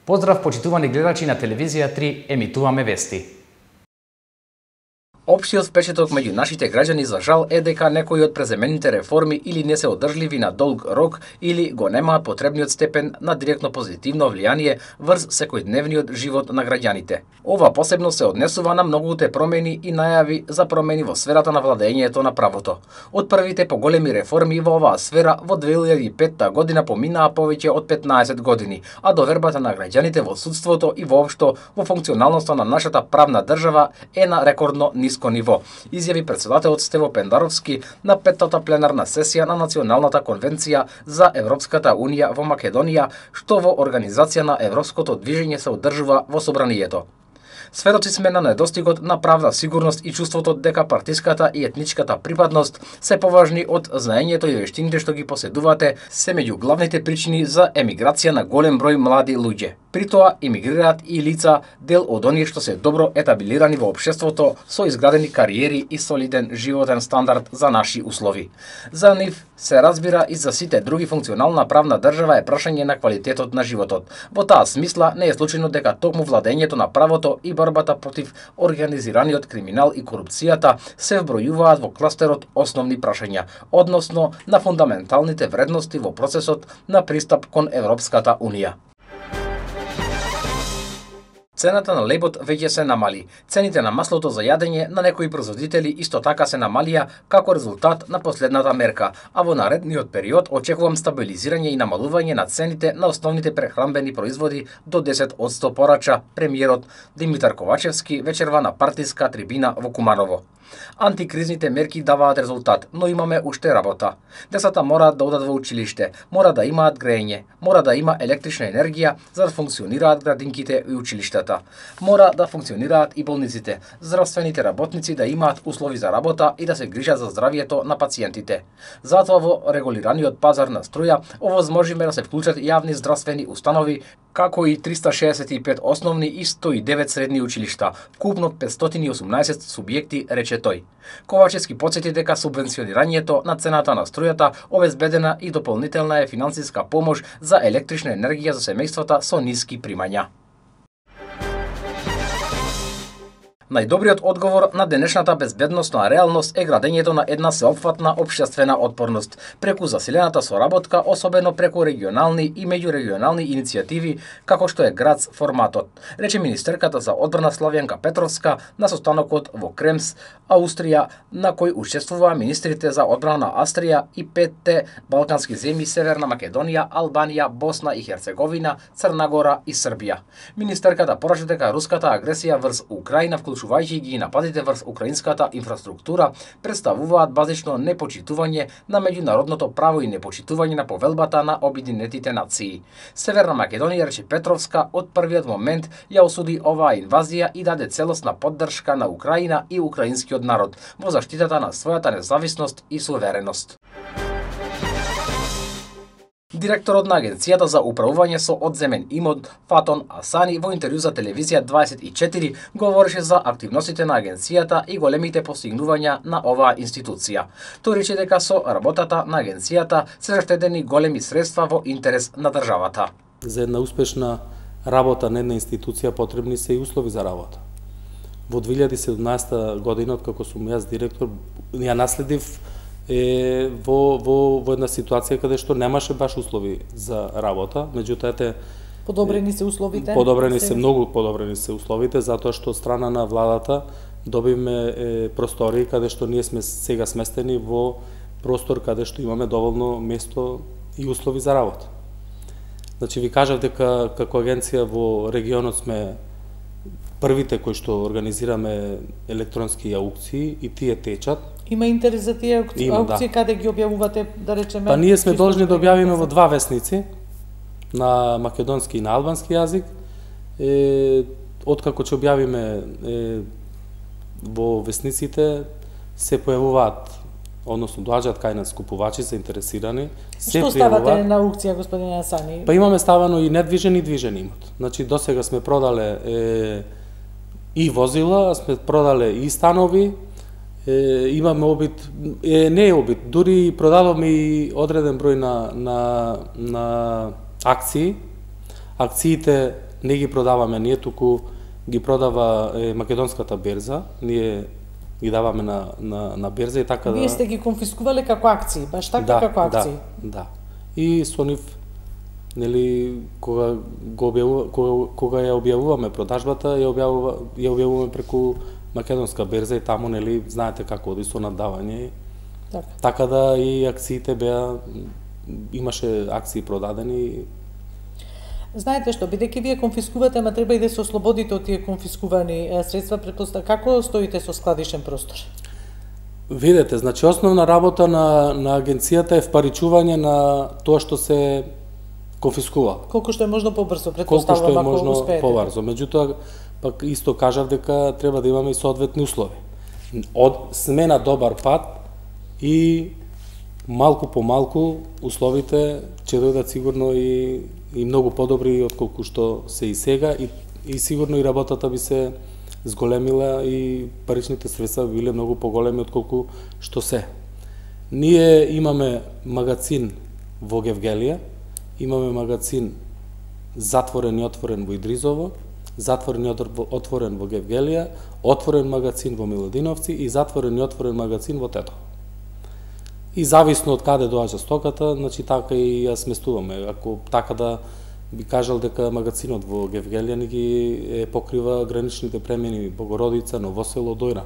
Поздрав, почитувани гледачи на телевизија 3, емитуваме вести. Општиот впечаток меѓу нашите граѓани за жал е дека некои од преземените реформи или не се одржливи на долг рок или го немаат потребниот степен на директно позитивно влијание врз секојдневниот живот на граѓаните. Ова посебно се однесува на многуте промени и најави за промени во сферата на владењето на правото. Од првите поголеми реформи во оваа сфера во 2005 година поминаа повеќе од 15 години, а довербата на граѓаните во судството и воопшто во функционалноста на нашата правна држава е на рекордно ниско ниво, изјави претседателот Стево Пендаровски на петтата пленарна сесија на Националната конвенција за Европската унија во Македонија, што во организација на Европското движење се одржува во собранието. Сведоци сме на недостигот на правна сигурност и чувството дека партиската и етничката припадност се поважни од знаењето и вештините што ги поседувате се меѓу главните причини за емиграција на голем број млади луѓе. При тоа емигрираат и лица дел од оние што се добро етабилирани во општеството со изградени кариери и солиден животен стандард за наши услови. За нив се разбира и за сите други функционална правна држава е прашање на квалитетот на животот. Во таа смисла не е случајно дека токму владењето на правото и борбата против организираниот криминал и корупцијата се вбројуваат во кластерот основни прашања, односно на фундаменталните вредности во процесот на пристап кон Европската унија. Цената на лебот веќе се намали. Цените на маслото за јадење на некои производители исто така се намалија како резултат на последната мерка, а во наредниот период очекувам стабилизирање и намалување на цените на основните прехранбени производи до 10% порача премиерот Димитар Ковачевски вечерва на партиска трибина во Куманово. Антикризните мерки даваат резултат, но имаме уште работа. Децата мораат да одат во училиште, мора да имаат грејење, мора да има електрична енергија за да функционираат градинките и училиштата. Мора да функционираат и болниците, здравствените работници да имаат услови за работа и да се грижат за здравието на пациентите. Затоа во регулираниот пазар на струја овозможиме да се вклучат јавни здравствени установи, како и 365 основни и 109 средни училишта, вкупно 518 субјекти, рече тој. Ковачевски потсети дека субвенционирањето на цената на струјата обезбедена и дополнителна е финансиска помош за електрична енергија за семејствата со ниски примања. Најдобриот одговор на денешната безбедносна реалност е градењето на една сеопфатна општествена отпорност, преку засилената соработка, особено преку регионални и меѓурегионални иницијативи, како што е градс форматот, рече министерката за одбрана Славјанка Петровска на состанокот во Кремс, Аустрија, на кој учествуваа министрите за одбрана на Австрија и 5 балкански земји Северна Македонија, Албанија, Босна и Херцеговина, Црна Гора и Србија. Министерката порача дека руската агресија врз Украина, вклучувајќи ги нападите врз украинската инфраструктура, представуваат базично непочитување на меѓународното право и непочитување на повелбата на Обединетите нации. Северна Македонија, рече Петровска, од првиот момент ја осуди оваа инвазија и даде целосна поддршка на Украина и украинскиот народ во заштитата на својата независност и сувереност. Директорот на Агенцијата за управување со одземен имот Фатон Асани во интервју за телевизија 24 говореше за активностите на агенцијата и големите постигнувања на оваа институција. Тој рече дека со работата на агенцијата се заштедени големи средства во интерес на државата. За една успешна работа на една институција потребни се и услови за работа. Во 2017 година, откако сум јас директор, ја наследив во една ситуација каде што немаше баш услови за работа, меѓутоа подобрени се условите. Многу подобрени се условите, затоа што од страна на владата добивме простори каде што ние сме сега сместени во простор каде што имаме доволно место и услови за работа. Значи ви кажав дека како агенција во регионот сме првите кои што организираме електронски аукции и тие течат. Има интерес за тие аукции, каде ги објавувате, да речеме? Па ние сме должни да објавиме во 2 весници, на македонски и на албански јазик. Откако ќе објавиме во весниците, се појавуваат, односно доаѓаат кај нас купувачи заинтересирани. Што ставате на аукција, господин Асани? Па имаме ставано и недвижен и движен имот. Значи досега сме продале и возила, сме продале и станови, имаме обид, не е обид, дури продадовме и одреден број на акции. Акциите не ги продаваме ние, туку ги продава македонската берза, ние ги даваме на берза и така Вие сте ги конфискувале како акции, баш така како акции. Да. И со нив, нели, кога ја објавуваме продажбата, ја објавуваме преку македонска берза и таму, нели, знаете како оди со наддавање. Така да и акциите имаше акции продадени. Знаете што, бидејќи вие конфискувате, ама треба и да се ослободите од тие конфискувани средства, како стоите со складишен простор? Видете, значи основна работа на агенцијата е впаричување на тоа што се конфискува. Колку што е можно побрзо, претпоставувам, ако успеете. Колку што е можно побрзо. Меѓутоа, пак исто кажав дека треба да имаме и соодветни услови. Сме на добар пат и малку по малку условите ќе дојдат сигурно и многу подобри отколку што се и сега и сигурно и работата би се зголемила и паричните средства биле многу поголеми отколку што се. Ние имаме магазин во Гевгелија, имаме магазин затворен и отворен во Идризово, затворен и отворен во Гевгелија, отворен магазин во Милодиновци и затворен и отворен магазин во Тетово. И зависно од каде доаѓа стоката, значи така и ја сместуваме. Ако така да би кажал дека магазинот во Гевгелија ни ги покрива граничните премини Богородица, Новосело, Дојран.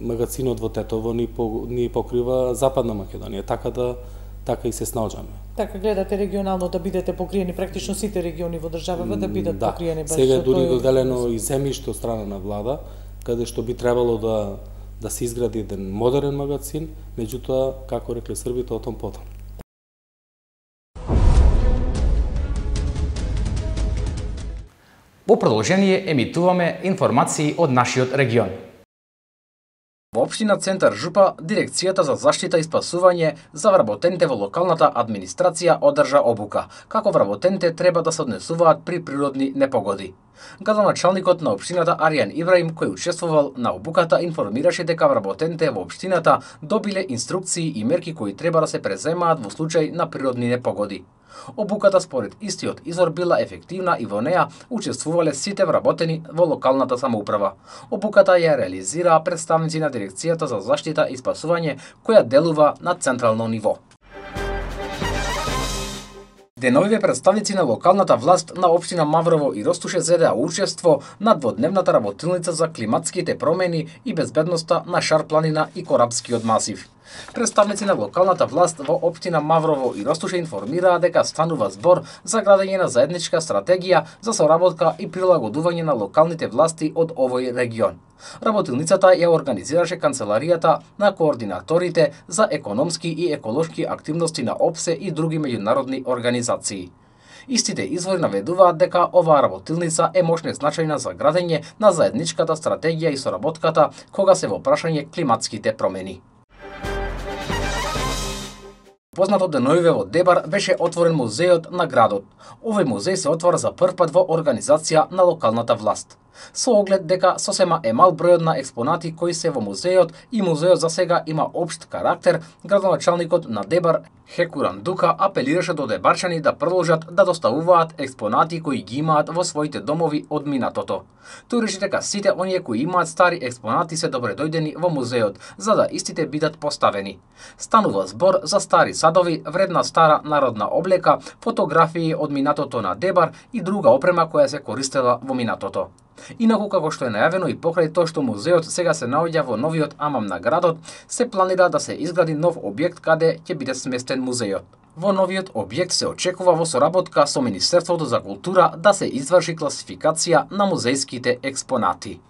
Магазинот во Тетово ни покрива Западна Македонија, така и се снаоѓаме. Така гледате регионално да бидете покриени, практично сите региони во државава да бидат покриени баш. Сега дури доделено и земјиште од страна на влада, каде што би требало да се изгради еден модерен магазин, меѓутоа, како рекле србите, о том потом. Во продолжение емитуваме информации од нашиот регион. Во општина Центар Жупа, Дирекцијата за заштита и спасување за вработените во локалната администрација одржа обука, како вработените треба да се однесуваат при природни непогоди. Градоначалникот на општината Аријан Ибраим, кој учествувал на обуката, информираше дека вработените во општината добиле инструкции и мерки кои треба да се преземаат во случај на природни непогоди. Обуката според истиот извор била ефективна и во неа учествувале сите вработени во локалната самоуправа. Обуката ја реализираа представници на Дирекцијата за заштита и спасување, која делува на централно ниво. Деновиве представници на локалната власт на општина Маврово и Ростуше зедеа учество на дводневната работилница за климатските промени и безбедноста на Шар планина и Корабскиот масив. Представници на локалната власт во општина Маврово и Ростуше информираа дека станува збор за градење на заедничка стратегија за соработка и прилагодување на локалните власти од овој регион. Работилницата ја организираше канцеларијата на координаторите за економски и еколошки активности на ОПСЕ и други меѓународни организации. Истите извори наведуваат дека оваа работилница е мощно значајна за градење на заедничката стратегија и соработката кога се во прашање климатските промени. Познато деновиве во Дебар беше отворен музејот на градот. Овој музеј се отвора за прв пат во организација на локалната власт. Со оглед дека сосема е мал бројот на експонати кои се во музејот и музејот за сега има општ карактер, градоначалникот на Дебар Хекуран Дука апелираше до дебарчани да продолжат да доставуваат експонати кои ги имаат во своите домови од минатото. Тој реши дека сите оние кои имаат стари експонати се добредојдени во музејот, за да истите бидат поставени. Станува збор за стари садови, вредна стара народна облека, фотографии од минатото на Дебар и друга опрема која се користела во минатото. Инаку, како што е најавено и покрај тоа што музеот сега се наоѓа во новиот амам на градот, се планира да се изгради нов објект каде ќе биде сместен музеот. Во новиот објект се очекува во соработка со Министерството за култура да се изврши класификација на музејските експонати.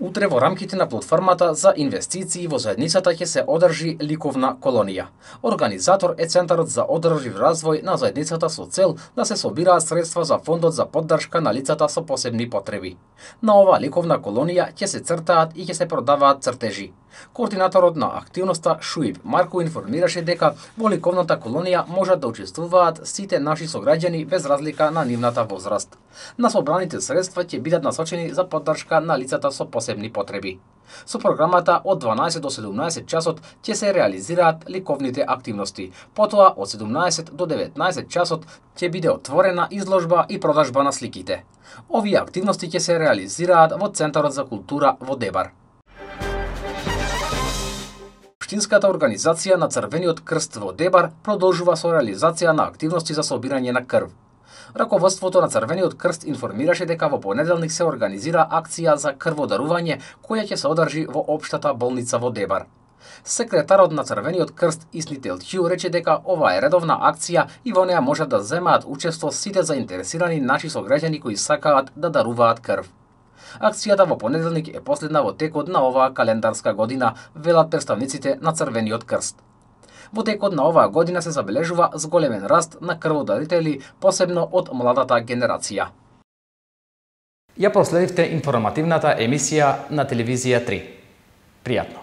Утре во рамките на платформата за инвестиции во заедницата ќе се одржи ликовна колонија. Организатор е Центарот за одржлив развој на заедницата со цел да се собираат средства за фондот за поддршка на лицата со посебни потреби. На оваа ликовна колонија ќе се цртаат и ќе се продаваат цртежи. Координаторот на активноста Шуип Марко информираше дека во ликовната колонија можат да учествуваат сите наши сограѓани без разлика на нивната возраст. На собраните средства ќе бидат насочени за поддршка на лицата со посебни потреби. Со програмата од 12 до 17 часот ќе се реализираат ликовните активности. Потоа од 17 до 19 часот ќе биде отворена изложба и продажба на сликите. Овие активности ќе се реализираат во Центарот за култура во Дебар. Општинската организација на Црвениот крст во Дебар продолжува со реализација на активности за собирање на крв. Раководството на Црвениот крст информираше дека во понеделник се организира акција за крводарување која ќе се одржи во општата болница во Дебар. Секретарот на Црвениот крст Исни Телчиу рече дека ова е редовна акција и во неа можат да земаат учество сите заинтересирани наши сограѓани кои сакаат да даруваат крв. Акцијата во понеделник е последна во текот на оваа календарска година, велат представниците на Црвениот крст. Во текот на оваа година се забележува зголемен раст на крводарители, посебно од младата генерација. Ја проследивте информативната емисија на телевизија 3. Пријатно.